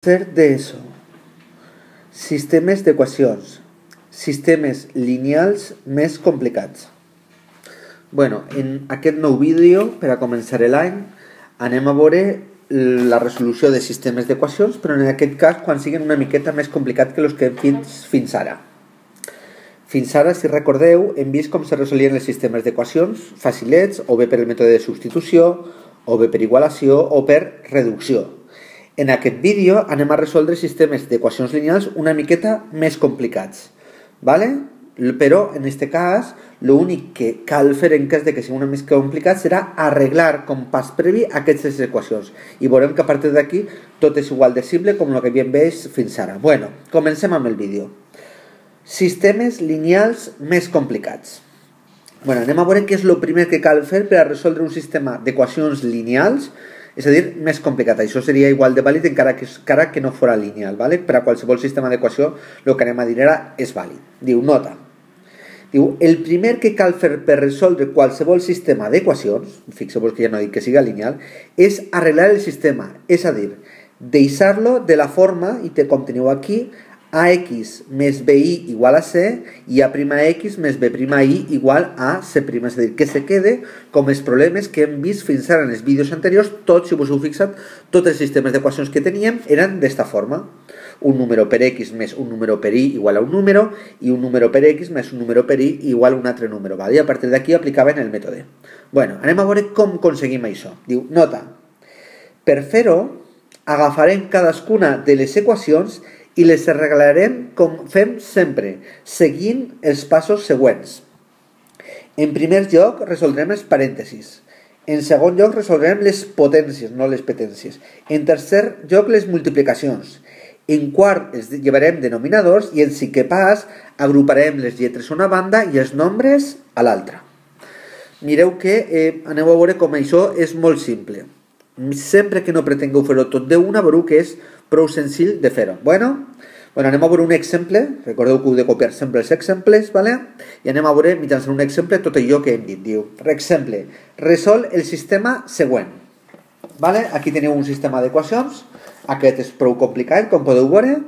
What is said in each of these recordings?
Tercer d'ESO. Sistemes d'equacions. Sistemes lineals més complicats. En aquest nou vídeo, per a començar l'any, anem a veure la resolució de sistemes d'equacions, però en aquest cas quan siguin una miqueta més complicats que els que hem vist fins ara. Fins ara, si recordeu, hem vist com se resolien els sistemes d'equacions facilets, o bé per el mètode de substitució, o bé per igualació, o per reducció. En aquest vídeo anem a resoldre sistemes d'equacions lineals una miqueta més complicats, ¿vale? Però en aquest cas l'únic que cal fer en cas de que sigui una mica complicat serà arreglar com pas previ aquestes equacions i veurem que a partir d'aquí tot és igual de simple com el que havíem vist fins ara. Comencem amb el vídeo. Sistemes lineals més complicats. Anem a veure què és el primer que cal fer per a resoldre un sistema d'equacions lineals, és a dir, més complicat. Això seria igual de vàlid encara que no fora lineal, ¿vale? Per a qualsevol sistema d'equació el que anem a dir ara és vàlid. Diu, nota. Diu, el primer que cal fer per resoldre qualsevol sistema d'equacions, fixeu-vos que ja no dic que siga lineal, és arreglar el sistema, és a dir, deixar-lo de la forma, i com teniu aquí, AX més BI igual a C i A'X més B'I igual a C', és a dir, que se quede com els problemes que hem vist fins ara en els vídeos anteriors. Tots, si us heu fixat, tots els sistemes d'equacions que teníem eren d'esta forma. Un número per X més un número per Y igual a un número i un número per X més un número per Y igual a un altre número. I a partir d'aquí aplicaven el mètode. Anem a veure com aconseguim això. Diu, nota, per fer-ho agafarem cadascuna de les equacions i les arreglarem com fem sempre, seguint els passos següents. En primer lloc, resoldrem els parèntesis. En segon lloc, resoldrem les potències, no les petències. En tercer lloc, les multiplicacions. En quart, els llevarem denominadors i en cinquè pas, agruparem les lletres a una banda i els nombres a l'altra. Mireu que aneu a veure com això és molt simple. Sempre que no pretengueu fer-ho tot d'una, veureu que és prou senzill de fer-ho. Anem a veure un exemple. Recordeu que heu de copiar sempre els exemples, i anem a veure mitjançant un exemple tot allò que hem dit. Diu, per exemple, resol el sistema següent. Aquí teniu un sistema d'equacions. Aquest és prou complicat, com podeu veure.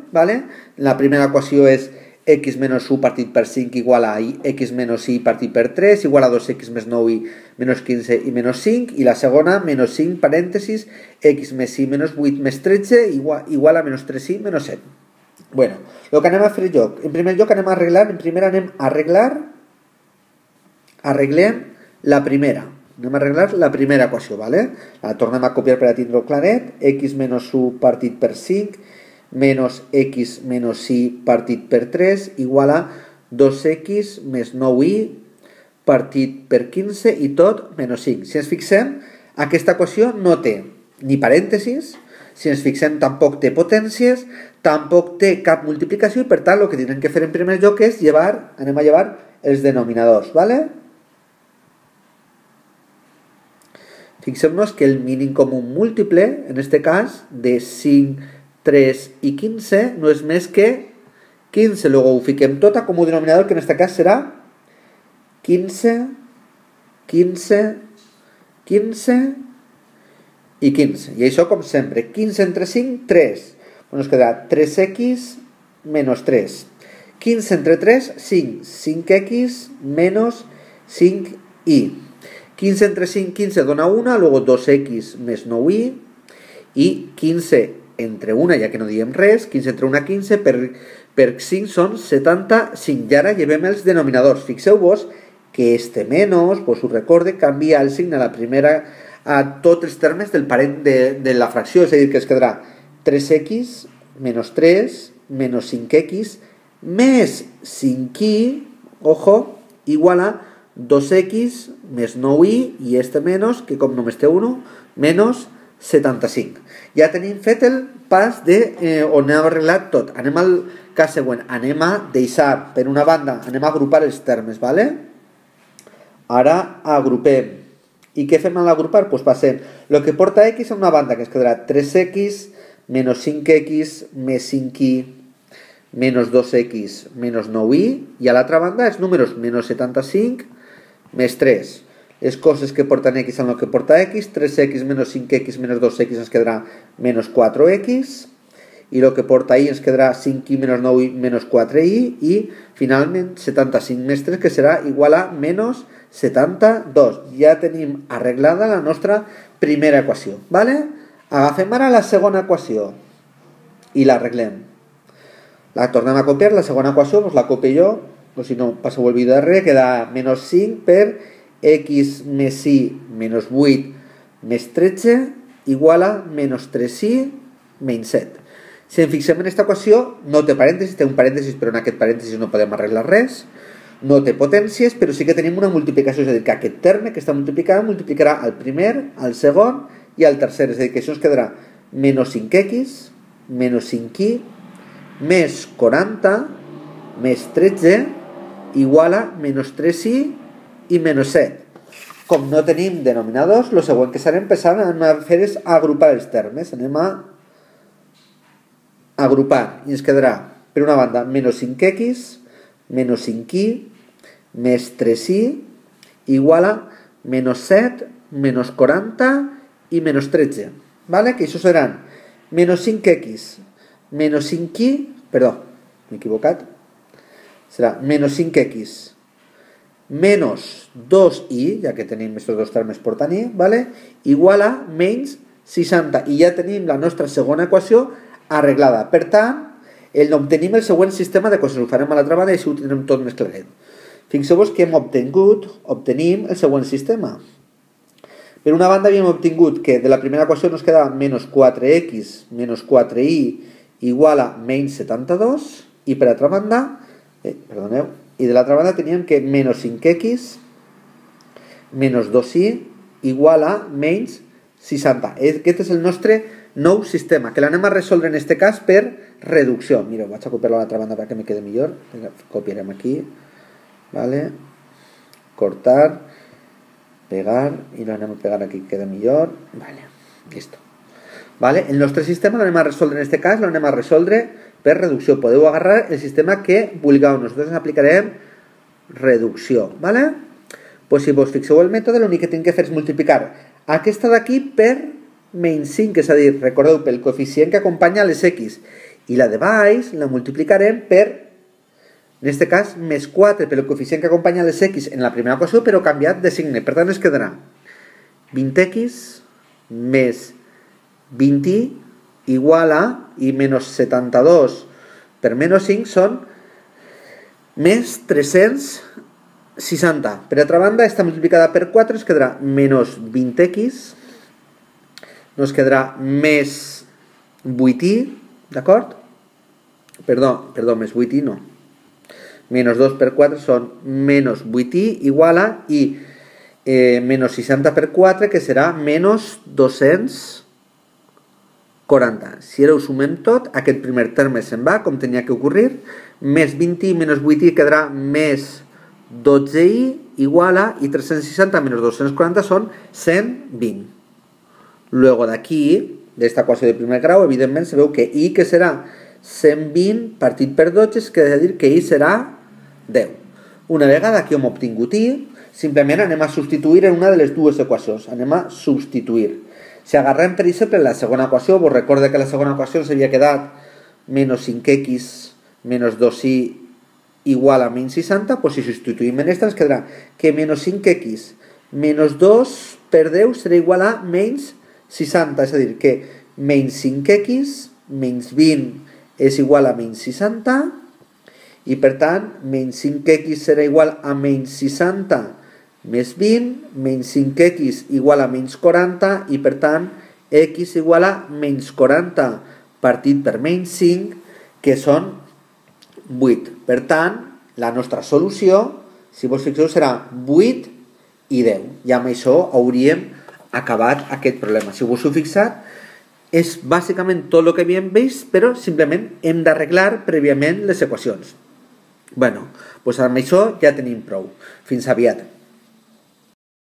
La primera equació és x menys 1 partit per 5 igual a x menys y partit per 3 igual a 2x més 9y menys 15 i menys 5, i la segona menys 5 parèntesis x més y menys 8 més 13 igual a menys 3y menys 7. El que anem a fer en primer lloc anem a arreglem la primera. Anem a arreglar la primera equació, la tornem a copiar per a tindre-ho claret. X menys 1 partit per 5 menys x menys y partit per 3 igual a 2x més 9y partit per 15 i tot menys 5. Si ens fixem, aquesta equació no té ni parèntesis, si ens fixem tampoc té potències, tampoc té cap multiplicació i per tant el que tindrem que fer en primer lloc és anem a llevar els denominadors. Fixem-nos que el mínim comú múltiple, en aquest cas, de 5, 3 i 15 no és més que 15. Luego ho fiquem tot com un denominador que en aquest cas serà 15, 15, 15 i 15. I això com sempre, 15 entre 5, 3. Ens quedarà 3x menys 3. 15 entre 3, 5. 5x menys 5y. 15 entre 5, 15 dona 1, luego 2x més 9y i 15 entre 1, ja que no diem res, 15 entre 1, 15, per 5 són 75. I ara llevem els denominadors. Fixeu-vos que este menys, us recorde, canvia el signe a la primera a tots els termes del parent de la fracció, és a dir, que es quedarà 3x menys 3 menys 5x més 5y, ojo, igual a 2x més 9y i este menys, que com només té 1, menys 75. Ja tenim fet el pas on hem arreglat tot. Anem al cas següent. Anem a deixar, per una banda, anem a agrupar els termes, Ara agrupem. I què fem a l'agrupar? Passem el que porta x a una banda, que es quedarà 3x menys 5x més 5y menys 2x menys 9y, i a l'altra banda els números menys 75 més 3. Les coses que porten x en el que porta x, 3x menys 5x menys 2x ens quedarà menys 4x, i el que porta i ens quedarà 5i menys 9i menys 4i i finalment 75 més 3 que serà igual a menys 72. Ja tenim arreglada la nostra primera equació, ¿vale? Agafem ara la segona equació i l'arreglem. La tornem a copiar, la segona equació doncs la copio jo, o si no passeu el vídeo darrere, queda menys 5 per x més i menys 8 més 13 igual a menys 3i menys 7. Si ens fixem en aquesta equació, no té parèntesis, té un parèntesis, però en aquest parèntesis no podem arreglar res. No té potències, però sí que tenim una multiplicació, és a dir, que aquest terme que està multiplicant multiplicarà el primer, el segon i el tercer, és a dir, que això ens quedarà menys 5x, menys 5i, més 40, més 13, igual a menys 3i i menys 7. Com no tenim denominadors, el següent que serem anem a fer és agrupar els termes. Anem a agrupar i ens quedarà, per una banda, menys 5x, menys 5i, més 3i, igual a menys 7, menys 40 i menys 13. ¿Vale? Que això seran menys 5x, menys 5i, perdó, m'he equivocat, serà menys 5x, menys 2i, ja que tenim aquests dos termes per tenir, ¿vale? Igual a menys 60. I ja tenim la nostra segona equació arreglada. Per tant, obtenim el següent sistema d'equacions. Ho farem a l'altra banda i així ho tindrem tot més claret. Fixeu-vos que obtenim el següent sistema. Per una banda havíem obtingut que de la primera equació ens quedava menys 4x menys 4i igual a menys 72 i per altra banda, i de l'altra banda teníem que menys 5x menys 2i igual a menys 60. Aquest és el nostre nou sistema, que l'anem a resoldre en aquest cas per reducció. Mira, vaig a copiar-lo a l'altra banda perquè me quede millor. Copiarem aquí, vale? Cortar, pegar, i lo anem a pegar aquí, que quede millor. Vale, listo. Vale? El nostre sistema l'anem a resoldre en aquest cas, l'anem a resoldre per reducció. Podeu agarrar el sistema que vulgueu. Nosaltres aplicarem reducció, vale? Pues si vos fixeu el mètode, l'únic que tinc que fer és multiplicar aquesta d'aquí per menys 5, és a dir, recordeu, pel coeficient que acompanya les x, i la de baix la multiplicarem per, en aquest cas, més 4 pel coeficient que acompanya les x en la primera equació, però canviat de signe. Per tant, ens quedarà 20x més 20i igual a, i menys 72 per menys 5 són més 360. Per altra banda, està multiplicada per 4, ens quedarà menys 20x, nos quedarà més 8i, d'acord? Perdó, més 8i no. Menys 2 per 4 són menys 8i igual a, i menys 60 per 4, que serà menys 240. Si ara ho sumem tot, aquest primer terme se'n va, com tenia que ocorrir, més 20i menys 8i quedarà més 12i igual a, i 360 menys 240 són 120. Luego d'aquí, d'esta equació de primer grau, evidentment se veu que i, que serà 120 partit per 12, és que dir que i serà 10. Una vegada que hem obtingut i, simplement anem a substituir en una de les dues equacions. Anem a substituir. Si agarrem, per exemple, la segona equació, vos recorde que la segona equació s'havia quedat menys 5x menys 2i igual a menys 60, doncs si substituïm en aquesta ens quedarà que menys 5x menys 2 per 10 serà igual a menys 60, és a dir, que menys 5x menys 20 és igual a menys 60 i per tant menys 5x serà igual a menys 60 més 20, menys 5x igual a menys 40 i per tant x igual a menys 40 partit per menys 5, que són 8. Per tant, la nostra solució, si vos fixeu, serà 8 i 10. I amb això hauríem acabat aquest problema. Si vos heu fixat, és bàsicament tot el que havíem vist, però simplement hem d'arreglar prèviament les equacions. Bueno, doncs amb això ja tenim prou. Fins aviat.